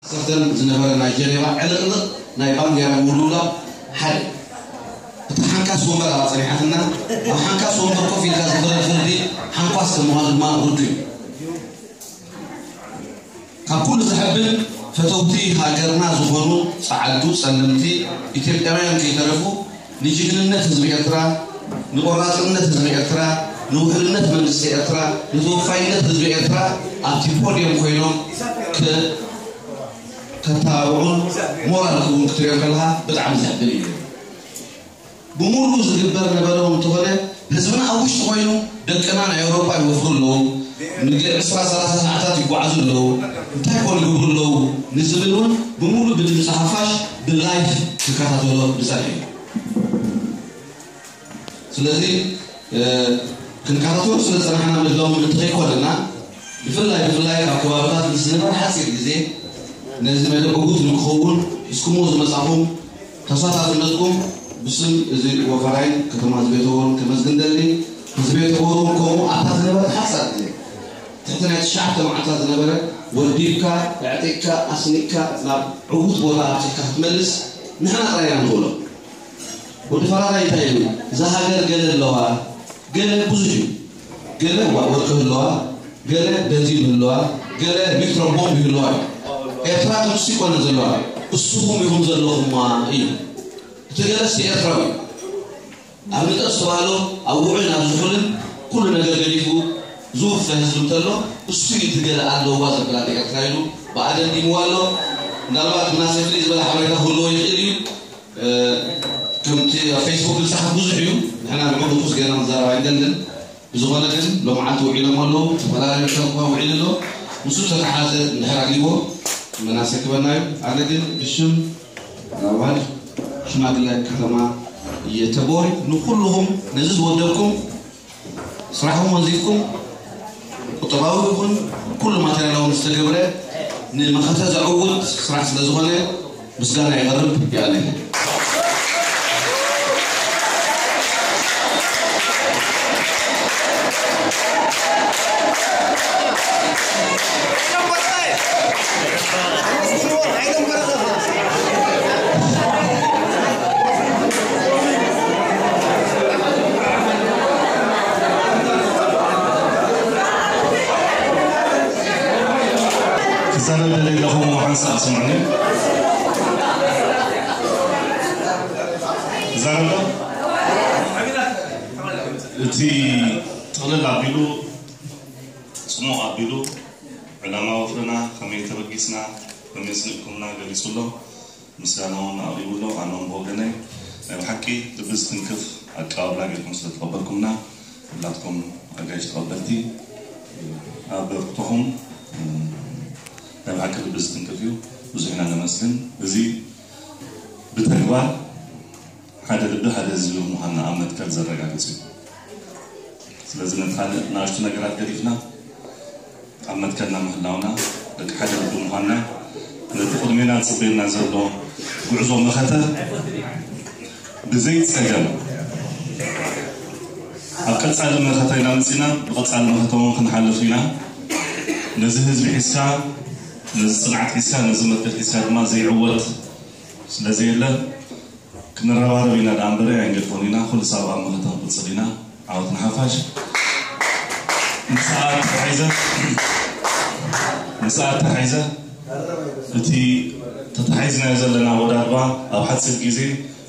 ዓሰርተን ዝነበረ ናይ ጀኔቫ ዕልቕልቕ ናይ ባንዴራ ምውልውላው ሓደ። እታ ሓንካስ ወንበር ኣብኣ ጸኒሓትና፣ ኣብ ሓንካስ ወንበር ኮፍ ኢልካ ዝፍረድ ፍርዲ ሓንኳስ ከም ምዃኑ ድማ ርዱእ እዩ። ካብ ኩሉ ዘሐብን፣ ፈተውቲ ሃገርና ዝኾኑ ጸዓዱ ጸለምቲ ኢትዮጵያውያን ከይተረፉ ንጅግንነት ህዝቢ ኤርትራ፣ ንቆራጽነት ህዝቢ ኤርትራ፣ ንውሕልነት መንግስቲ ኤርትራ፣ ንተወፋይነት ህዝቢ ኤርትራ ኣብቲ ፖድየም ኮይኖም ከ ከተባብዑን ሞራል ክህቡን ክትሪኦ ከለኻ ብጣዕሚ ዘሕብን እዩ። ብምሉኡ ዝግበር ነበረ እውን እንተኾነ፣ ህዝብና ኣብ ውሽጢ ኮይኑ ደቅና ናይ ኣውሮጳ ይወፍሩ ኣለዉ፣ ንግ ዕስራ ሰላሳ ሰዓታት ይጓዓዙ ኣለዉ፣ እንታይ ኮን ይገብሩ ኣለዉ ንዝብል እውን ብምሉእ ብድምፂ ሓፋሽ ብላይፍ ክከታተሎ ዝፀንሐ እዩ። ስለዚ ክንከታተሎ ስለ ዝፀናሕና ምህላው ምእንቲ ከይኮነና፣ ብፍላይ ብፍላይ ካብ ከባብታት ምስ ዝነበረ ሓፂር ግዜ ነዚ መደብ ዕዉት ንክኸውን ሒዝኩምዎ ዝመፃኹም ተሳታፍነትኩም ብስም እዚ ወፈራይን ከተማ ህዝቢ ተቦሮን ከመስግን ደሊ። ህዝቢ ተቦሮን ከምኡ ኣብታ ዝነበረ ሓፃር ግዜ ትሕቲ ናይ ትሽዓተ መዓልታት ዝነበረ ወዲብካ ኣዕጢቕካ ኣስኒቕካ ናብ ዕዉት ቦታ ኣብፂሕካ ክትመልስ ንሕና ጥራይ ኢና ንኽእሎ። ወዲ ፈራዳይ እንታይ ኢሉ? እዛ ሃገር ገለ ኣለዋ፣ ገለ ብዙሕ እዩ። ገለ ዋ- ወርቂ ህለዋ፣ ገለ ቤንዚን ህለዋ፣ ገለ ኒውትሮን ቦምብ ይህለዋ እዩ። ኤርትራ ግን እሱ ይኮነ ዘለዋ፣ እስኹም ኢኹም ዘለኹማ እዩ። እቲ ገለስ ኤርትራዊ እዩ። ኣብ ንጠብ ዝተባህሎ ኣብ ውዑይ ናብ ዝሑልን ኩሉ ነገር ገዲፉ ዝውፈ ህዝቢ እንተሎ እሱ እዩ እቲ ገለ ኣለዋ ዘበላ ኤርትራ ኢሉ ብኣደንዲምዋ ኣሎ። ምናልባት ምናሴ ፍልይ ዝበለ ሓበሬታ ክህልዎ ይኽእል እዩ። ከምቲ ኣብ ፌስቡክ ዝፀሓፍ ብዙሕ እዩ። ንሕና ንዕኡ ንኩስ ጌርና ክንዛረብ ኣይንደልን። ብዝኾነ ግን ሎምዓንቲ ውዒሎም ኣለዉ። ዝተፈላለዩ ሰብ እኳ ውዒሉ ኣሎ። ምስኡ ተተሓዘ እንድሕር ኣልይዎ መናሰክበና እዩ። ኣነ ግን ብሽም ኣባል ሽማግለ ከተማ እየ ተቦሪ ንኩልኹም ነዚ ዝወደብኩም ስራሕኩም ወንዚፍኩም ቁጠባዊ ይኹን ኩሉ ማቴሪያላዊ ዝተገብረ ንመኸተ ዘዕውት ስራሕ ስለ ዝኾነ ምስጋና የቐርብ። ይኣለኝ። ክዛረብ ደለ ኣለኹ እሞ ሓንሳእ ስምዑኒ። ክዛረብ ዶ? እቲ ጥቕልል ኣቢሉ፣ ጽሙቕ ኣቢሉ፣ ዕላማ ወፍርና ከመይ ተበጊስና፣ ከመይ ስኒቕኩምና ገሊጹ ኣሎ። ምስጋና እውን ኣቕሪቡ ኣሎ። ኣነ እውን ብወገነይ ናይ ብሓቂ ልቢ ዝትንክፍ ኣቀባብላ ጌርኩም ስለ ተቐበልኩምና፣ ኩላትኩም ኣጋይሽ ተቐበልቲ ኣበርክቶኹም ናይ ብሓቂ ልቢ ዝትንክፍ እዩ። ብዙሕ ኢና ነመስግን። እዚ ብተግባር ሓደ ልቢ ሓደ ህዝቢ ምዃንና ኣብ መትከል ዘረጋግጽ እዩ። ስለዚ ነቲ ካልእ ንኣሽቱ ነገራት ገዲፍና ኣብ መትከልና ምህላውና፣ ደቂ ሓደ ልቢ ምዃንና፣ ነቲ ቅድሜና ዝጽበየና ዘሎ ጉዕዞ መኸተ ብዘይ ጸገም ኣብ ቀጻሊ መኸተ ኢና መጺና፣ ብቐጻሊ መኸተ እውን ክንሓልፍ ኢና። ነዚ ህዝቢ ሒዝካ፣ ነዚ ጽንዓት ሒዝካ፣ ነዚ መትከል ሒዝካ ድማ ዘይዕወት ስለ ዘየለ፣ ክንረባረብ ኢና ደኣ እምበር ኣይንገድፎን ኢና። ኩሉ ሳብ ኣብ መኸተ ክንቅጽል ኢና። ዓወት ንሓፋሽ። ምስኣ ተታሒዘ፣ ምስኣ ተታሒዘ፣ እቲ ተታሒዝናዮ ዘለና ወዳድባ ኣብ ሓጺር ግዜ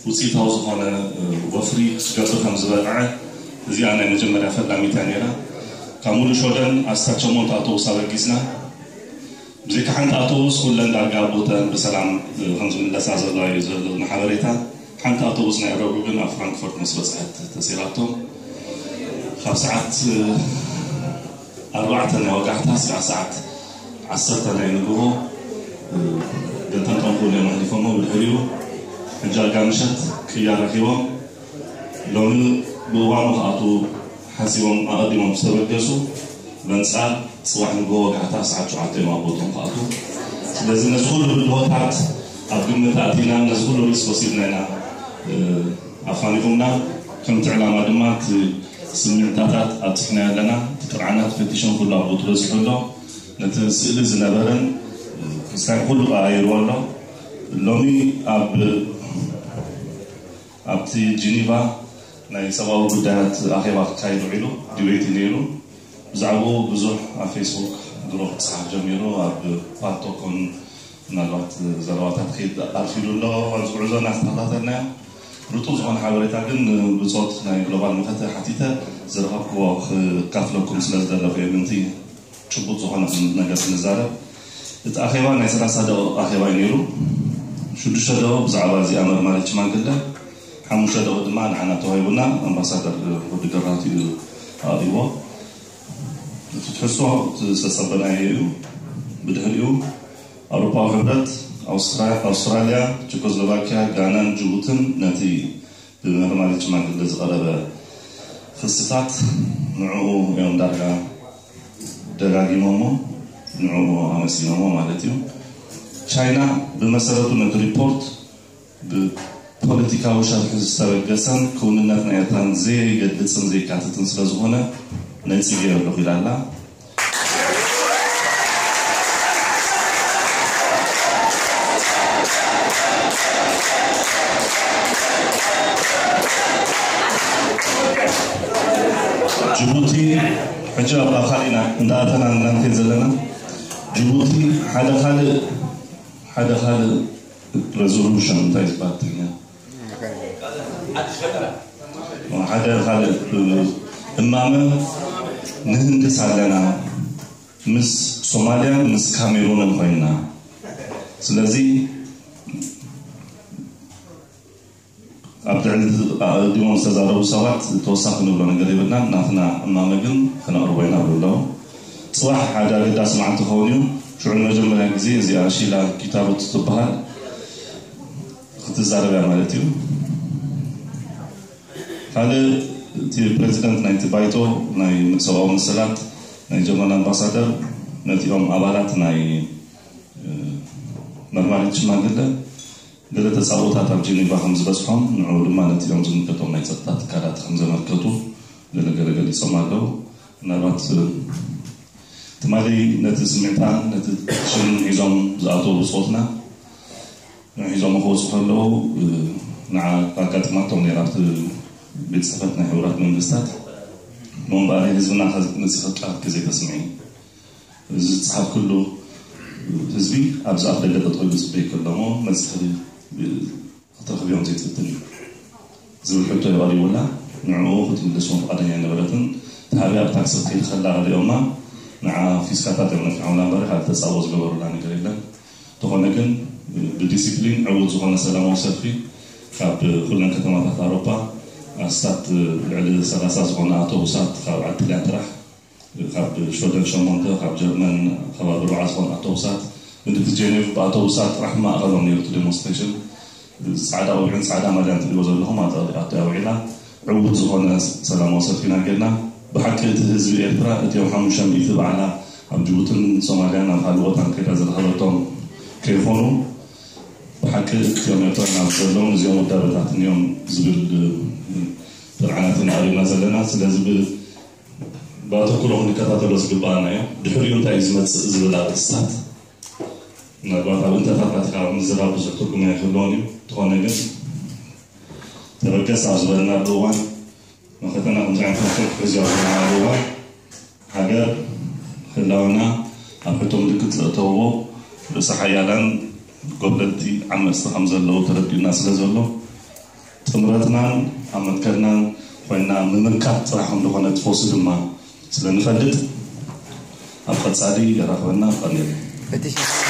ውጽኢታዊ ዝኾነ፣ እ፣ ወፍሪ ክገብር ከም ዝበቕዐ፣ እዚኣ ናይ መጀመርያ ፈላሚት እያ ነይራ። ካብ ሙሉ ሾደን ኣስታት ሸሞንተ ኣውቶቡስ ኣበጊስና። ብዘይካ ሓንቲ ኣውቶቡስ ኩለን ዳርጋ ኣብ ቦተን ብሰላም ከም ዝምለሳ ዘለዋ እዩ ዘለኒ ሓበሬታ። ሓንቲ ኣውቶቡስ ናይ ረቡዕ ግን ኣብ ፍራንክፈርት ምስ በጽሐት ተሲራቶም። ካብ ሰዓት ኣርባዕተ ናይ ወጋሕታ ስጋዕ ሰዓት ዓሰርተ ናይ ንግሆ ገንጠንጠን ክብሉ እዮም ኣሕሊፎሞ። ብድሕሪኡ ሕጂ ኣጋ ምሸት ቅያ ረኺቦም ሎሚ ብእዋኑ ክኣትዉ ሓሲቦም ኣቐዲሞም ዝተበገሱ በንጻር ጽባሕ ንግሆ ወጋሕታ ሰዓት ሸውዓተ እዮም ኣብ ቦትኦም ክኣትዉ። ስለዚ ነዚ ኩሉ ብድሆታት ኣብ ግምት ኣእቲና ነዚ ኩሉ ሪስክ ወሲድና ኢና፣ እ፣ ኣፋኒኹምና። ከምቲ ዕላማ ድማ እቲ ስምዒታታት ኣብጺሕናዮ ኣለና። እቲ ጥርዓናት ፈቲሾም ኩሉ ኣብ ቦትኡ በጺሑ ኣሎ። ነቲ ስእሊ ዝነበረን፣ እ፣ ሳይ ኩሉ ቀያይርዎ ኣሎ። ሎሚ ኣብ ኣብቲ ጂኒቫ ናይ ሰብኣዊ ጉዳያት ኣኼባ ክካየድ ውዒሉ፣ ዲቤት እዩ ነይሩ። ብዛዕባኡ ብዙሕ ኣብ ፌስቡክ ድሮ ክፀሓፍ ጀሚሩ፣ ኣብ ፓልቶክ ኮን ምናልባት ዘረባታት ክኸይድ ኣርፊዱ ኣሎ። ኣብዚ ጉዕዞ እናተኸታተልናዮ ርጡብ ዝኾነ ሓበሬታ ግን ብፆት ናይ ግሎባል መኸተ ሓቲተ ዝረኸብክዎ ክካፍለኩም ስለ ዝደለኹ እየ። ምንቲ ጭቡጥ ዝኾነ ነገር ክንዛረብ። እቲ ኣኼባ ናይ ሰላሳ ደቂቕ ኣኼባ እዩ ነይሩ። ሽዱሽተ ደቂቕ ብዛዕባ እዚኣ መርማሪት ሽማግለ፣ ሓሙሽተ ደቂቕ ድማ ንዓና ተዋሂቡና፣ ኣምባሳደር ወዲ ገራህቱ እዩ ኣቕሪብዎ። እቲ ትሕዝቶ እቲ ዝተጸበናዮ እዩ። ብድሕሪኡ ኣውሮፓዊ ሕብረት፣ ኣውስትራ-፣ ኣውስትራልያ፣ ቸኮስሎቫኪያ፣ ጋናን ጅቡትን ነቲ ብመርማሪት ሽማግለ ዝቐረበ ክስታት ንዕኡ እዮም ዳርጋ ደጋጊሞሞ፣ ንዕኡ ኣመስጊኖሞ ማለት እዩ። ቻይና ብመሰረቱ ነቲ ሪፖርት ብፖለቲካዊ ሸርሒ ዝተበገሰን ክውንነት ናይ ኤርትራን ዘይገልጽን ዘይካትትን ስለ ዝኾነ ነጺገዮ ኣለኹ ኢላ ኣላ። ጅቡቲ ሕጂ ኣብ ካልእ ኢና እንዳኣተና እንዳንከድ ዘለና። ጅቡቲ ሓደ ካልእ ሓደ ካልእ ሬዞሉሽን እንታይ ዝበሃል ትግርኛ? ሓደ ካልእ እማመ ንህንድስ ኣለና፣ ምስ ሶማልያን ምስ ካሜሩንን ኮይንና። ስለዚ ኣብ ልዕሊ ኣቐዲሞም ዝተዛረቡ ሰባት ተወሳኺ ንብሎ ነገር የብልናን። ናትና እማመ ግን ከነቕርቦ ኢና ብሉ ኣለዉ። ጽባሕ ሓደ ኣገዳሲ መዓልቲ ክኸውን እዩ። ሽዑ ንመጀመርያ ግዜ እዚኣ ሺላ ኪታሩት ትበሃል ክትዛረብ እያ ማለት እዩ። ካልእ እቲ ፕሬዚደንት ናይቲ ባይቶ ናይ ሰብኣዊ መሰላት ናይ ጀርመን ኣምባሳደር ነቲኦም ኣባላት ናይ እ፣ መርማሪት ሽማግለ ገለ ተጻብኦታት ኣብ ጄኔቫ ከም ዝበጽሖም፣ ንዕኡ ድማ ነቲኦም ዝምልከቶም ናይ ጸጥታ ትካላት ከም ዘመልከቱ ገለ ገለ ገሊጾም ኣለዉ። ምናልባት እ፣ ትማሊ ነቲ ስምዕታን ነቲ ሽምን ሒዞም ዝኣተዉ ብጾትና ንሒዞም ክወፁ ከለዉ እ፣ ንዓ ኣጋጢማቶም ነይራ ኣብቲ ቤት ጽሕፈት ናይ ሕቡራት መንግስታት። እሞ እምበኣር ህዝብና ከ መፂኺ ቃልኪ ዘይተስምዒ? እዚ ዝፀሓፍክሉ ህዝቢ ኣብዚ ኣፍ ደገ ጠጠው ኢሉ ዝፅበይ ከሎ እሞ መፂኺ ክትረኽብዮም ዘይትፍትን እዩ ዝብል ሕቶ እዩ ቀሪቡላ። ንዕኡ ክትምልስ እውን ፍቓደኛ ኣይነበረትን። እቲ ሃብያ ኣብ ታክሲ ክትከይድ ከላ ሪኦማ ንዓ ፊስካታት እዮም ነፊሖምላ እምበር ካልእ ተፃብኦ ዝገበሩላ ነገር የለን። እንተኾነ ግን ብዲሲፕሊን ዕዉት ዝኾነ ሰላማዊ ሰልፊ ካብ ኩለን ከተማታት ኣውሮፓ ኣስታት ልዕሊ ሰላሳ ዝኾነ ኣውቶቡሳት ካብ ዓዲ ጥልያን ጥራሕ ካብ ሽወደን ሸሞንተ ካብ ጀርመን ከባቢ ኣርባዓ ዝኾነ ኣውቶቡሳት ምድቲ ጀኔቭ ብኣውቶቡሳት ጥራሕ ማእኸሎም ነይሩ እቲ ዴሞንስትሬሽን። ፃዕዳ ቆቢዕን ፃዕዳ ማልያን ትሪእዎ ዘለኹም ኣብቲ ኣብቲ ኣውዒላ ዕዉት ዝኾነ ሰላማዊ ሰልፊ ኢና ጌርና። ብሓቂ እቲ ህዝቢ ኤርትራ እቲኦም ሓሙሽተ ሚእቲ ባዕላ ኣብ ጅቡትን ሶማልያን ኣብ ካልእ ቦታን ከይዳ ዝረኸበቶም ከይኾኑ ብሓቂ እቲኦም ኤርትራ ናብ ዘለዎም እዚኦም ውዳበታት እዮም ዝብል ጥርዓናት ኢና ኣሪምና ዘለና። ስለዚ ብ- ብኣተኩሮ ክንከታተሎ ዝግባኣና እዮም። ድሕሪኡ እንታይ እዩ ዝመፅእ ዝብል ኣርእስታት ምናልባት ኣብ እንተታት ኣቲኻ ምዝራብ ብዙሕ ትርጉም ኣይክህልዎን እዩ። እንተኾነ ግን ተበገስ ኣብ ዝበልናሉ እዋን መኸተና ከምዚ ዓይነት መፍትሒ ክሕዝ ኣብ ዝበልናሉ እዋን ሃገር ህላወና ኣብ ሕቶ ምልክት ዘእተውዎ ርእሰ ሓያላን ጎብለልቲ ዓመፅቲ ከም ዘለዉ ተረዲኡና ስለ ዘሎ ጥምረትናን ኣብ መትከልናን ኮይና ምምካት ጥራሕ ከም ዝኾነ ትፈሱ ድማ ስለ ንፈልጥ ኣብ ቀፃሊ የራኽበና። ቀኒልና።